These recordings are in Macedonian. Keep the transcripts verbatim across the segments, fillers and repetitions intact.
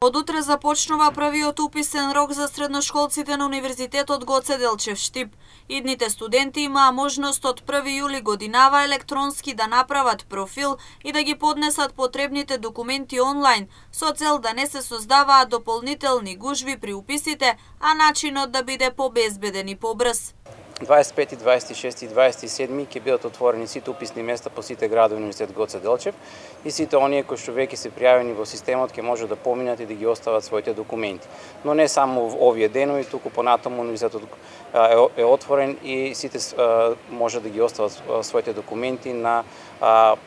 Од утре започнува првиот уписен рок за средношколците на Универзитетот Гоце Делчев Штип. Идните студенти имаа можност од први јули годинава електронски да направат профил и да ги поднесат потребните документи онлайн, со цел да не се создаваат дополнителни гужви при уписите, а начинот да биде побезбеден и побрз. дваесет и пети, дваесет и шести и дваесет и седми ќе бидат отворени сите уписни места по сите градови на Универзитет Гоце Делчев и сите оние кои што веќе се пријавени во системот ќе може да поминат и да ги остават своите документи. Но не само овие денови, туку понатаму Универзитетот е отворен и сите може да ги остават своите документи на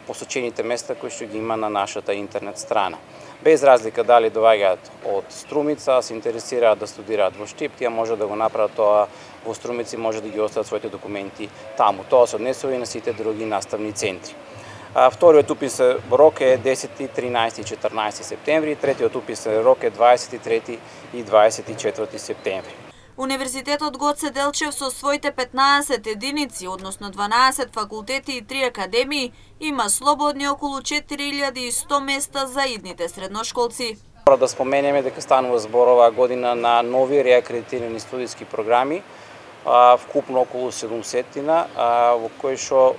посочените места кои што ги има на нашата интернет страна. Без разлика дали доаѓаат од Струмица, се интересираат да студираат во Штип, тие може да го направат тоа во Струмици, може да ги остават своите документи таму. Тоа се однесува и на сите други наставни центри. Вториот уписен рок е десети, тринаесети и четрнаесети септември, третиот уписен рок е дваесет и трети и дваесет и четврти септември. Универзитетот Гоце Делчев со своите петнаесет единици, односно дванаесет факултети и три академии, има слободни околу четири илјади и сто места за идните средношколци. Мора да споменеме дека станува збор оваа година на нови реакредитирани студиски програми, вкупно околу седумсетина, во кои што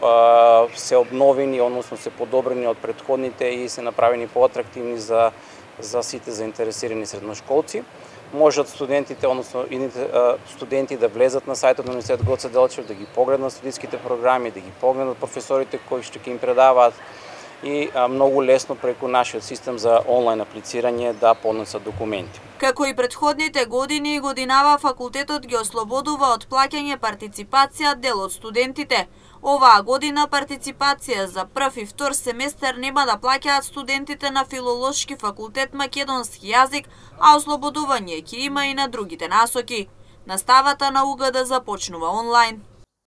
се обновени, односно се подобрени од претходните и се направени поатрактивни за за сите заинтересирани средношколци. Можат студентите, односно идните студенти да влезат на сајтот на Универзитет Гоце Делчев, да ги погледнат студиските програми, да ги погледнат професорите кои што ќе им предаваат и многу лесно преку нашиот систем за онлайн аплицирање да поднесат документи. Како и претходните години, годинава факултетот ги ослободува од плаќање партиципација дел од студентите. Оваа година партиципација за прв и втор семестер нема да плаќаат студентите на Филолошки факултет македонски јазик, а ослободување ќе има и на другите насоки. Наставата на УГД започнува онлайн.